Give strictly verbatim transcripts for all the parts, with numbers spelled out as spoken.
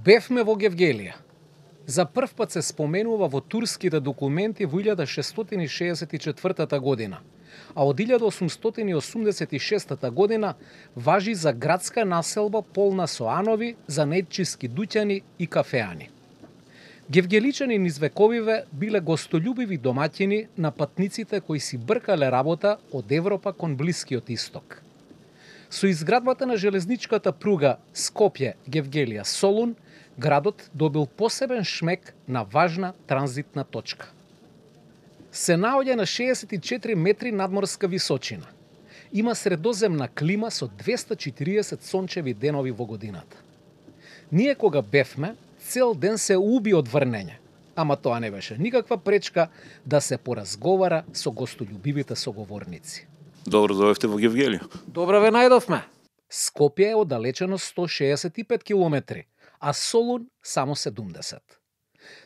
Бевме во Гевгелија. За прв пат се споменува во турските документи во илјада шестстотини и шеесет и четвртата година, а од илјада осумстотини и осумдесет и шестата година важи за градска населба полна со анови, занаетчиски дуќани и кафеани. Гевгеличани низ вековиве биле гостолюбиви домаќини на патниците кои си бркале работа од Европа кон Блискиот Исток. Со изградбата на железничката пруга Скопје-Гевгелија-Солун, градот добил посебен шмек на важна транзитна точка. Се наоѓа на шеесет и четири метри надморска височина. Има средоземна клима со двесте и четириесет сончеви денови во годината. Ние кога бевме, цел ден се уби од врнење, ама тоа не беше никаква пречка да се поразговара со гостолюбивите соговорници. Добро дојдовте во Гевгелија. Добро ве најдовме. Скопје е оддалечено сто шеесет и пет километри, а Солун само седумдесет.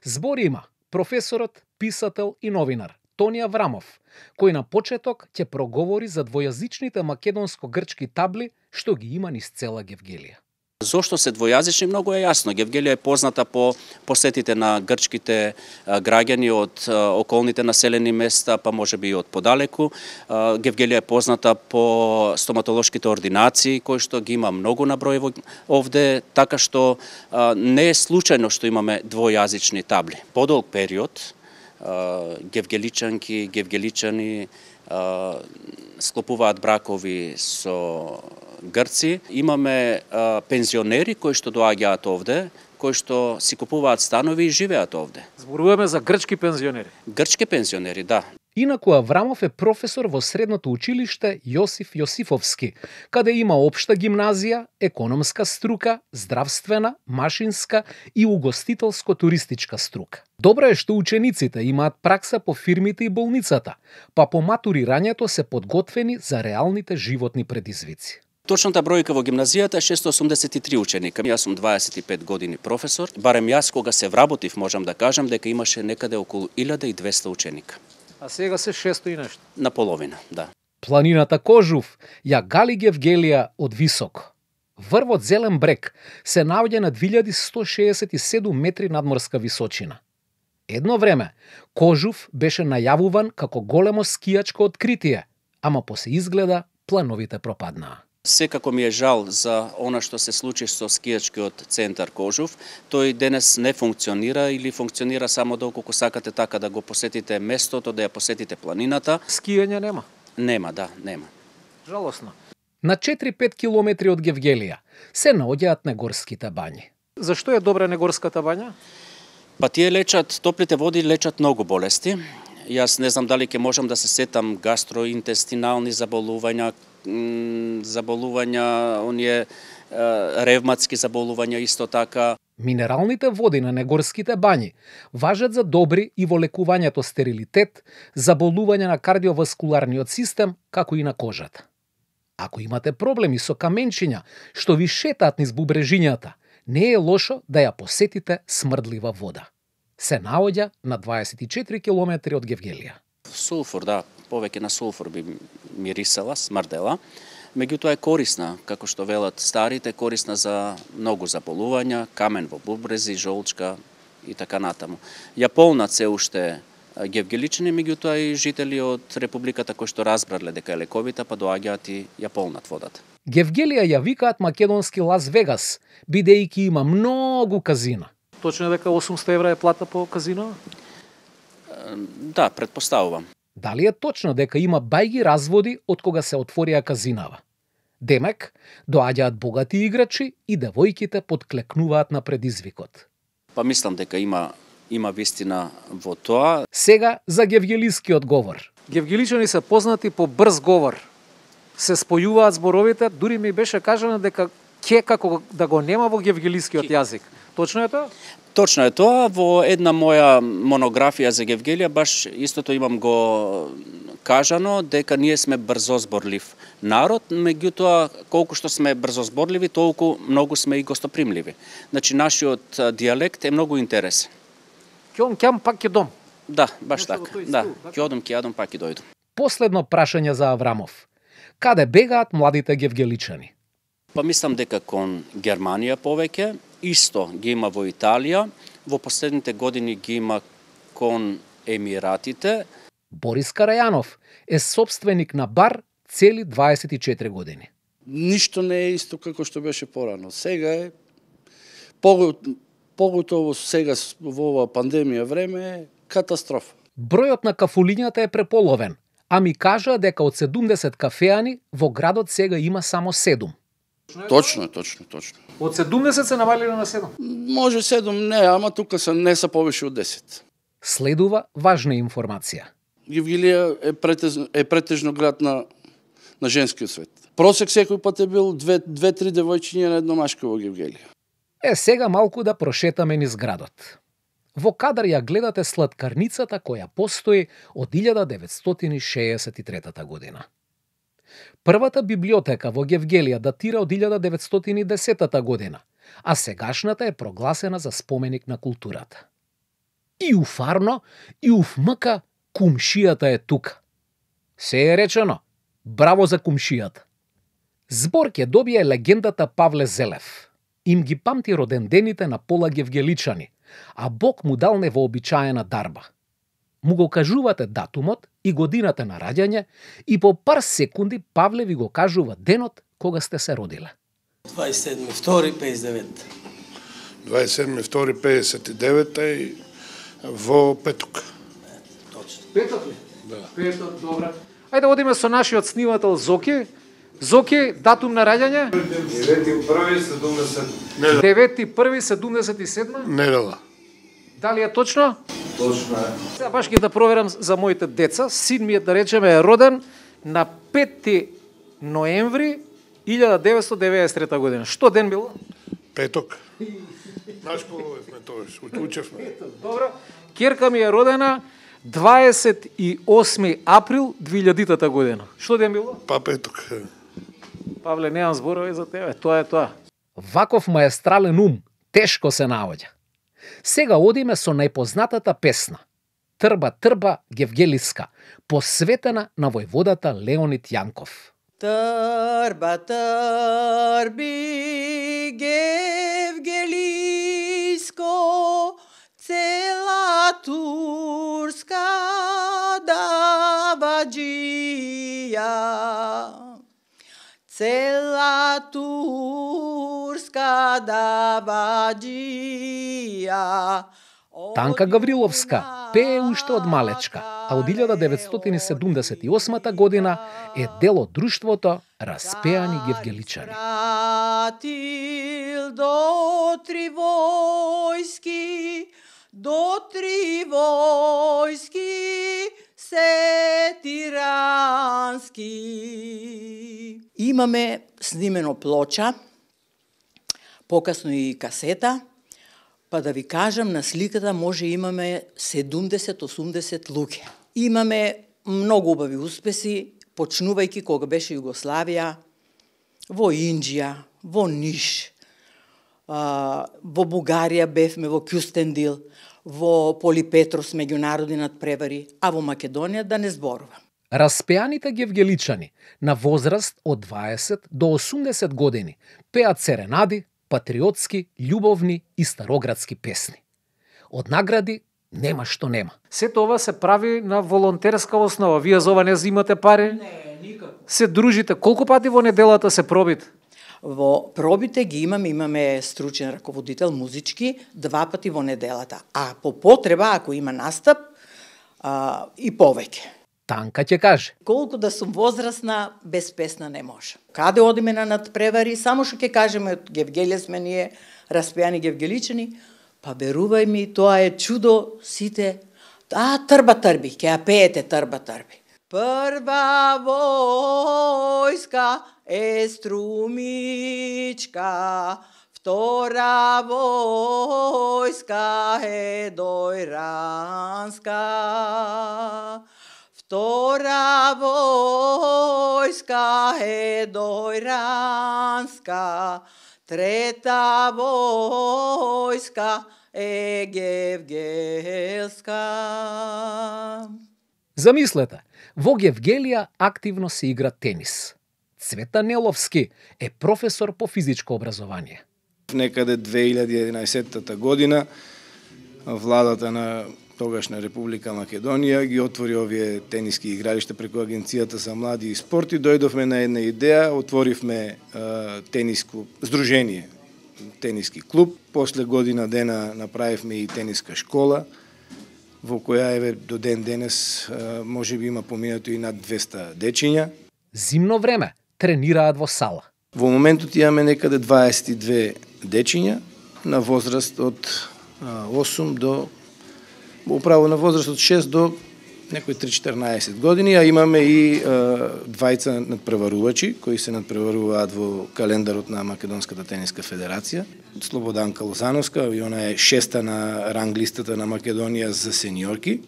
Збор има професорот, писател и новинар Тони Аврамов, кој на почеток ќе проговори за двојазичните македонско-грчки табли што ги има низ цела Гевгелија. Зошто се двојазични, многу е јасно. Гевгелија е позната по посетите на грчките граѓани од околните населени места, па можеби и од подалеку. Гевгелија е позната по стоматолошките ординации, кои што ги има многу на број овде, така што не е случајно што имаме двојазични табли. Подолг период гевгеличанки, гевгеличани склопуваат бракови со грци. Имаме а, пензионери кои што доаѓаат овде, кои што си купуваат станови и живеат овде. Зборуваме за грчки пензионери. Грчки пензионери, да. Инаку Аврамов е професор во средното училиште Јосиф Јосифовски, каде има општа гимназија, економска струка, здравствена, машинска и угостителско-туристичка струка. Добро е што учениците имаат пракса по фирмите и болницата, па по матурирањето се подготвени за реалните животни предизвици. Точната бројка во гимназијата е шестоосумдесет и три ученика. Јас сум дваесет и пет години професор. Барем јас кога се вработив, можам да кажам дека имаше некаде околу илјада и двесте ученика. А сега се шесто и нешто. На половина, да. Планината Кожув ја гали Гевгелија од високо. Врвот Зелен брег се наоѓа на две илјади сто шеесет и седум метри надморска височина. Едно време Кожув беше најавуван како големо скијачко откритие, ама по се изгледа плановите пропаднаа. Секако ми е жал за она што се случи со скијачкиот центар Кожув. Тој денес не функционира или функционира само доколку сакате така да го посетите местото, да ја посетите планината. Скијање нема? Нема, да, нема. Жалосно. На четири-пет километри од Гевгелија се наоѓаат негорските бањи. Зашто е добра негорската бања? Па тие лечат, топлите води лечат многу болести. Јас не знам дали ќе можам да се сетам гастроинтестинални заболувања, заболувања, оние ревматски заболувања исто така. Минералните води на негорските бањи важат за добри и во лекувањето стерилитет, заболувања на кардиоваскуларниот систем, како и на кожата. Ако имате проблеми со каменчиња што ви шетаат низ бубрежињата, не е лошо да ја посетите смрдлива вода. Се наоѓа на дваесет и четири километри од Гевгелија. Сулфур, да, повеќе на сулфур би мирисала, смрдела. Меѓутоа е корисна, како што велат старите, корисна за многу заболувања, камен во бубрези, жолчка и така натаму. Ја полнат се уште гевгеличани, меѓутоа и жители од републиката кои што разбрале дека е лековита, па доаѓаат и ја полнат водата. Гевгелија ја викаат македонски Лас Вегас, бидејќи има многу казина. Точно е дека осумсте евра е плата по казино? Да, предпоставувам. Дали е точно дека има бајги разводи од кога се отворија казинава? Демек, доаѓаат богати играчи и девојките подклекнуваат на предизвикот. Па мислам дека има има вистина во тоа. Сега за гевгелискиот говор. Гевгеличани се познати по брз говор. Се спојуваат зборовите, дури ми беше кажано дека ке како да го нема во гевгелискиот јазик. Точно е тоа? Точно е тоа. Во една моја монографија за Гевгелија баш истото имам го кажано дека ние сме брзозборлив народ, меѓутоа колку што сме брзозборливи, толку многу сме и гостопримливи. Значи нашиот дијалект е многу интересен. Ќом ќам пак ќе дом. Да, баш така. Да, ќе одам, ќе јадам, пак ќе дојдам. Последно прашање за Аврамов. Каде бегаат младите гевгеличани? Па мислам дека кон Германија повеќе, исто ги има во Италија, во последните години ги има кон Емиратите. Борис Карајанов е собственик на бар цели дваесет и четири години. Ништо не е исто како што беше порано. Сега е поготово сега во ова пандемија време е катастрофа. Бројот на кафулињата е преполовен, а ми кажаа дека од седумдесет кафеани во градот сега има само седум. Точно, точно, точно. Од седумдесет се намалило на седум. Може седум, не, ама тука се не се повише од десет. Следува важна информација. Гевгелија е претежно, е претежно град на на женскиот свет. Просек секој пат е бил две, две-три девојчиња на едно машко во Гевгелија. Е, сега малку да прошетаме низ градот. Во кадар ја гледате сладкарницата која постои од илјада деветстотини шеесет и трета година. Првата библиотека во Гевгелија датира од илјада деветстотини и десета година, а сегашната е прогласена за споменик на културата. И уф Арно, и уф Мка, кумшијата е тука. Се е речено, браво за кумшијата. Збор ќе добие легендата Павле Зелев. Им ги памти родендените на пола гевгеличани, а Бог му дал невообичаена дарба. Му го кажувате датумот и годината на раѓање и по пар секунди Павле ви го кажува денот кога сте се родиле. дваесет и седми втори пеесет и девет. дваесет и седми втори пеесет и девета и во петок. Точно. Петок ли? Да. Петок, добра. Ајде одиме со нашиот снимател Зоки. Зоки, датум на раѓање? девети први седумдесет. девети први седумдесет и седма. Недела. Дали е точно? Точно е. Сега баш ќе да проверам за моите деца. Син да речеме е роден на пети ноември илјада деветстотини деветдесет и трета година. Што ден било? Петок. Нашколовме тоаш, учевме. Добро. Керка ми е родена дваесет и осми април две илјадитата година. Што ден било? Па петок. Павле, немам зборови за тебе. Тоа е тоа. Ваков маестрален ум тешко се наоѓа. Сега одиме со најпознатата песна. Трба, трба, гевгелиска, посветена на војводата Леонид Јанков. Трба, трби, гевгелиско, цела турска даваџија. Цела турска даваџија. Танка Гавриловска пее уште од малечка, а од илјада деветстотини седумдесет и осма година е дел од друштвото Распеани гевгеличани. Пратил до три војски, до три војски, се тирански. Имаме снимено плоча, покасно и касета, па да ви кажам, на сликата може имаме седумдесет-осумдесет луѓе. Имаме многу убави успеси, почнувајќи кога беше Југославија, во Инџија, во Ниш, во Бугарија бевме, во Кюстендил, во Полипетрос меѓународни надпревари, а во Македонија да не зборувам. Распеаните гевгеличани на возраст од дваесет до осумдесет години пеат серенади, патриотски, љубовни и староградски песни. Од награди нема што нема. Сето ова се прави на волонтерска основа. Вие за ова не зимате пари? Не, никако. Се дружите. Колку пати во неделата се пробите? Во пробите ги имаме, имаме стручен раководител музички два пати во неделата, а по потреба, ако има настап, а, и повеќе. Танка ќе каже. Колку да сум возрастна, без песна не може. Каде одиме на надпревари, само што ќе кажеме од Гевгелија сме ние, Распеани гевгеличани, па верувај ми, тоа е чудо, сите, а, трба трби, ќе ја пеете трба трби. Прва војска е струмичка, втора војска е дојранска. Втора војска е дојранска, трета војска е гевгелска. Замислете, во Гевгелија активно се игра тенис. Цвета Неловски е професор по физичко образование. Некаде две илјади и единаесетта година владата на тогашна Република Македонија ги отвори овие тениски игралишта преку Агенцијата за млади и спорт и дојдовме на една идеја, отворивме а, тениско здружение, тениски клуб. После година дена направивме и тениска школа, во која еве до ден денес а, може би има поминато и над двеста дечиња. Зимно време тренираат во сала. Во моментот имаме некаде дваесет и две дечиња на возраст од а, осум до управо на возраст од шест до некои три-четрнаесет години, а имаме и а, двајца надпреварувачи кои се надпреваруваат во календарот на Македонската тениска федерација. Слободанка Лозановска, и она е шеста на ранг листата на Македонија за сениорки,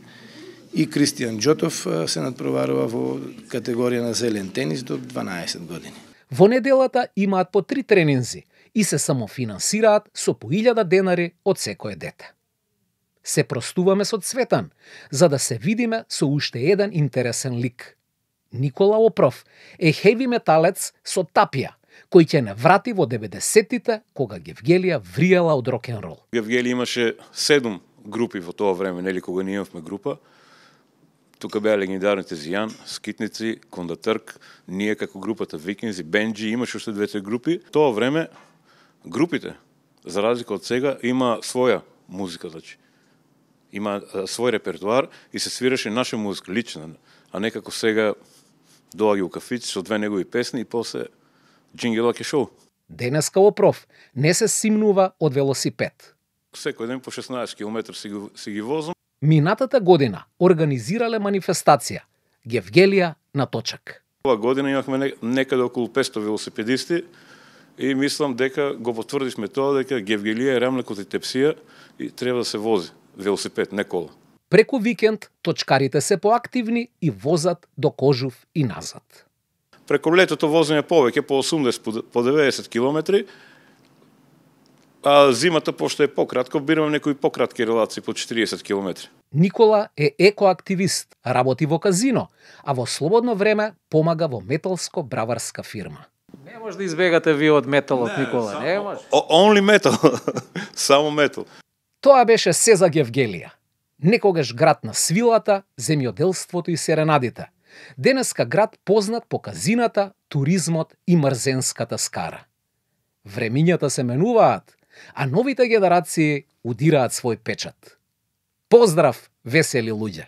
и Кристијан Џотов а, се надпреварува во категорија на зелен тенис до дванаесет години. Во неделата имаат по три тренинзи и се самофинансираат со по илјада денари од секое дете. Се простуваме со Цветан, за да се видиме со уште еден интересен лик. Никола Опров е хеви металец со тапија, кој ќе не врати во деветдесеттите, кога Гевгелија вриела од рок-н-рол. Гевгелија имаше седум групи во тоа време, нели кога ние имавме група. Тука беа легендарните Зијан, Скитници, Кондатърк, ние како групата Викинзи, Бенджи, имаше уште двете групи. Тоа време групите, за разлика од сега, има своја музика, значи. Има а, свој репертуар и се свираше наша музика, лична, а не како сега доаѓа у кафици со две негови песни и после джингела ке шоу. Денеска Опров не се симнува од велосипед. Секој ден по шеснаесет километри си, си ги возам. Минатата година организирале манифестација Гевгелија на точак. Ова година имавме некаде околу петстотини велосипедисти и мислам дека го потврдивме тоа дека Гевгелија е рамлекот и тепсија и треба да се вози велосипед, не кола. Преку викенд точкарите се поактивни и возат до Кожув и назад. Преку летото возење повеќе, по осумдесет, по деветдесет километри, а зимата, пошто е пократко, бираме некои пократки релации по четириесет километри. Никола е екоактивист, работи во казино, а во слободно време помага во металско браварска фирма. Не може да избегате ви од металот, не, Никола, само, не може. Only metal, само метал. Тоа беше се за Гевгелија. Некогаш град на свилата, земјоделството и серенадите. Денеска град познат по казината, туризмот и мрзенската скара. Времињата се менуваат, а новите генерации удираат свој печат. Поздрав, весели луѓе!